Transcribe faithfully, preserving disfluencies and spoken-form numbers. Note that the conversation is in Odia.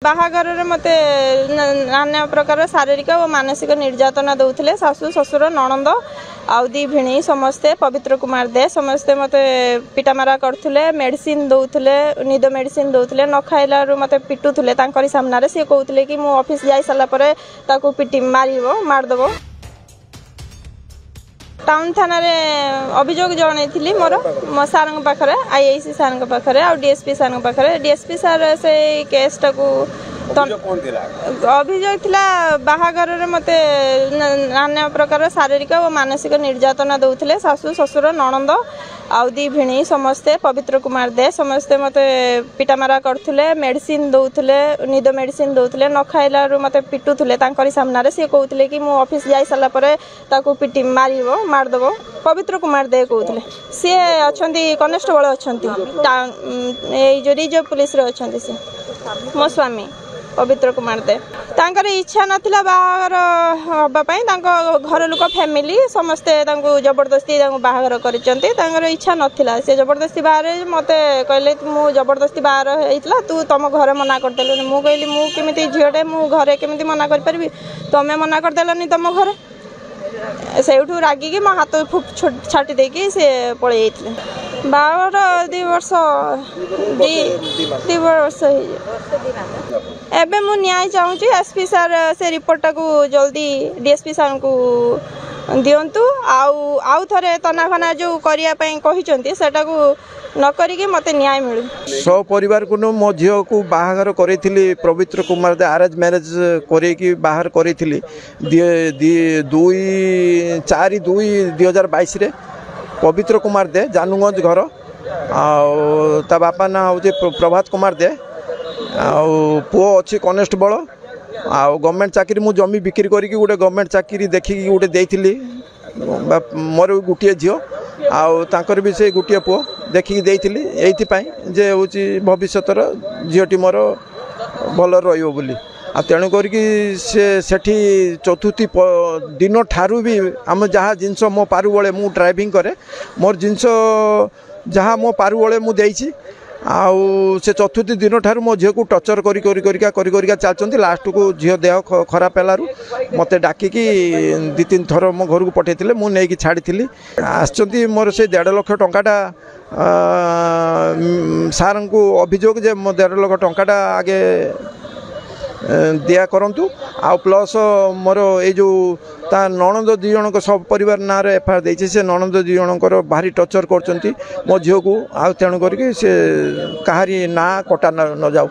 ବାହାଘରରେ ମୋତେ ନାନା ପ୍ରକାର ଶାରୀରିକ ଓ ମାନସିକ ନିର୍ଯାତନା ଦେଉଥିଲେ ଶାଶୁ ଶ୍ୱଶୁର ନଣନ୍ଦ ଆଉ ଦି ଭିଣେଇ ସମସ୍ତେ ପବିତ୍ର କୁମାର ଦେ ସମସ୍ତେ ମୋତେ ପିଟାମରା କରୁଥିଲେ ମେଡ଼ିସିନ ଦେଉଥିଲେ ନିଦ ମେଡ଼ିସିନ ଦେଉଥିଲେ ନ ଖାଇଲାରୁ ମୋତେ ପିଟୁଥିଲେ ତାଙ୍କରି ସାମ୍ନାରେ ସିଏ କହୁଥିଲେ କି ମୁଁ ଅଫିସ ଯାଇ ସାରିଲା ପରେ ତାକୁ ପିଟି ମାରିବ ମାରିଦେବ ଟାଉନ ଥାନାରେ ଅଭିଯୋଗ ଜଣାଇଥିଲି ମୋର ମୋ ସାର୍ଙ୍କ ପାଖରେ I I C ସାର୍ଙ୍କ ପାଖରେ ଆଉ ଡିଏସ୍ପି ସାର୍ଙ୍କ ପାଖରେ ଡିଏସ୍ପି ସାର୍ ସେଇ କେସ୍ଟାକୁ ଅଭିଯୋଗ କଣ ଥିଲା ଅଭିଯୋଗ ଥିଲା ବାହାଘରରେ ମୋତେ ନାନା ପ୍ରକାର ଶାରୀରିକ ଓ ମାନସିକ ନିର୍ଯାତନା ଦେଉଥିଲେ ଶାଶୁ ଶ୍ୱଶୁର ନଣନ୍ଦ ଆଉ ଦି ଭିଣେଇ ସମସ୍ତେ ପବିତ୍ର କୁମାର ଦେ ସମସ୍ତେ ମୋତେ ପିଟାମରା କରୁଥିଲେ ମେଡ଼ିସିନ ଦେଉଥିଲେ ନିଦ ମେଡ଼ିସିନ ଦେଉଥିଲେ ନ ଖାଇଲାରୁ ମୋତେ ପିଟୁଥିଲେ ତାଙ୍କରି ସାମ୍ନାରେ ସିଏ କହୁଥିଲେ କି ମୁଁ ଅଫିସ ଯାଇ ସାରିଲା ପରେ ତାକୁ ପିଟି ମାରିବ ମାରିଦେବ ପବିତ୍ର କୁମାର ଦେ କହୁଥିଲେ ସିଏ ଅଛନ୍ତି କନେଷ୍ଟବଳ ଅଛନ୍ତି ଏଇ ଯେଉଁ ରିଜର୍ଭ ପୁଲିସରେ ଅଛନ୍ତି ସିଏ ମୋ ସ୍ୱାମୀ ପବିତ୍ର କୁମାର ଦେ ତାଙ୍କର ଇଚ୍ଛା ନଥିଲା ବାହାଘର ହେବା ପାଇଁ ତାଙ୍କ ଘର ଲୋକ ଫ୍ୟାମିଲି ସମସ୍ତେ ତାଙ୍କୁ ଜବରଦସ୍ତି ତାଙ୍କୁ ବାହାଘର କରିଛନ୍ତି ତାଙ୍କର ଇଚ୍ଛା ନଥିଲା ସେ ଜବରଦସ୍ତି ବାହାରେ ମୋତେ କହିଲେ ମୁଁ ଜବରଦସ୍ତି ବାହାଘର ହେଇଥିଲା ତୁ ତମ ଘରେ ମନା କରିଦେଲୁନି ମୁଁ କହିଲି ମୁଁ କେମିତି ଝିଅଟେ ମୁଁ ଘରେ କେମିତି ମନା କରିପାରିବି ତମେ ମନା କରିଦେଲନି ତମ ଘରେ ସେଇଠୁ ରାଗିକି ମୋ ହାତ ଛାଟି ଦେଇକି ସେ ପଳେଇ ଯାଇଥିଲେ ବାହାଘର ଦୁଇ ବର୍ଷ ଦୁଇ ବର୍ଷ ହେଇଯିବ ଏବେ ମୁଁ ନ୍ୟାୟ ଚାହୁଁଛି ଏସ୍ ପି ସାର୍ ସେ ରିପୋର୍ଟଟାକୁ ଜଲ୍ଦି ଡିଏସ୍ପି ସାର୍ଙ୍କୁ ଦିଅନ୍ତୁ ଆଉ ଆଉ ଥରେ ତନାଘନା ଯେଉଁ କରିବା ପାଇଁ କହିଛନ୍ତି ସେଟାକୁ ନ କରିକି ମୋତେ ନ୍ୟାୟ ମିଳୁ ସପରିବାରକୁ ନୁହଁ ମୋ ଝିଅକୁ ବାହାଘର କରେଇଥିଲି ପବିତ୍ର କୁମାର ଦେ ଆରେଞ୍ଜ ମ୍ୟାରେଜ୍ କରେଇକି ବାହାଘର କରେଇଥିଲି ଦୁଇ ଚାରି ଦୁଇ ଦୁଇ ହଜାର ବାଇଶରେ ପବିତ୍ର କୁମାର ଦେ ଜାନୁଗଞ୍ଜ ଘର ଆଉ ତା ବାପା ନାଁ ହେଉଛି ପ୍ରଭାତ କୁମାର ଦେ ଆଉ ପୁଅ ଅଛି କନେଷ୍ଟବଳ ଆଉ ଗଭର୍ଣ୍ଣମେଣ୍ଟ ଚାକିରି ମୁଁ ଜମି ବିକ୍ରି କରିକି ଗୋଟେ ଗଭର୍ଣ୍ଣମେଣ୍ଟ ଚାକିରି ଦେଖିକି ଗୋଟେ ଦେଇଥିଲି ମୋର ଗୋଟିଏ ଝିଅ ଆଉ ତାଙ୍କର ବି ସେଇ ଗୋଟିଏ ପୁଅ ଦେଖିକି ଦେଇଥିଲି ଏଇଥିପାଇଁ ଯେ ହେଉଛି ଭବିଷ୍ୟତର ଝିଅଟି ମୋର ଭଲ ରହିବ ବୋଲି ଆଉ ତେଣୁ କରିକି ସେ ସେଠି ଚତୁର୍ଥୀ ଦିନଠାରୁ ବି ଆମ ଯାହା ଜିନିଷ ମୋ ପାରୁବଳେ ମୁଁ ଡ୍ରାଇଭିଂ କରେ ମୋର ଜିନିଷ ଯାହା ମୋ ପାରୁବଳେ ମୁଁ ଦେଇଛି ଆଉ ସେ ଚତୁର୍ଥୀ ଦିନଠାରୁ ମୋ ଝିଅକୁ ଟର୍ଚର୍ କରି କରି କରିକା କରି କରିକା ଚାଲିଛନ୍ତି ଲାଷ୍ଟକୁ ଝିଅ ଦେହ ଖରାପ ହେଲାରୁ ମୋତେ ଡାକିକି ଦୁଇ ତିନି ଥର ମୋ ଘରକୁ ପଠାଇଥିଲେ ମୁଁ ନେଇକି ଛାଡ଼ିଥିଲି ଆସିଛନ୍ତି ମୋର ସେ ଦେଢ଼ ଲକ୍ଷ ଟଙ୍କାଟା ସାର୍ଙ୍କୁ ଅଭିଯୋଗ ଯେ ମୋ ଦେଢ଼ ଲକ୍ଷ ଟଙ୍କାଟା ଆଗେ ଦିଆ କରନ୍ତୁ ଆଉ ପ୍ଲସ୍ ମୋର ଏଇ ଯେଉଁ ତା ନଣନ୍ଦ ଦୁଇ ଜଣଙ୍କ ସବୁ ପରିବାର ନାଁରେ ଏଫ୍ I R ଦେଇଛି ସେ ନଣନ୍ଦ ଦୁଇ ଜଣଙ୍କର ଭାରି ଟର୍ଚର୍ କରୁଛନ୍ତି ମୋ ଝିଅକୁ ଆଉ ତେଣୁ କରିକି ସେ କାହାରି ନାଁ କଟା ନ ଯାଉ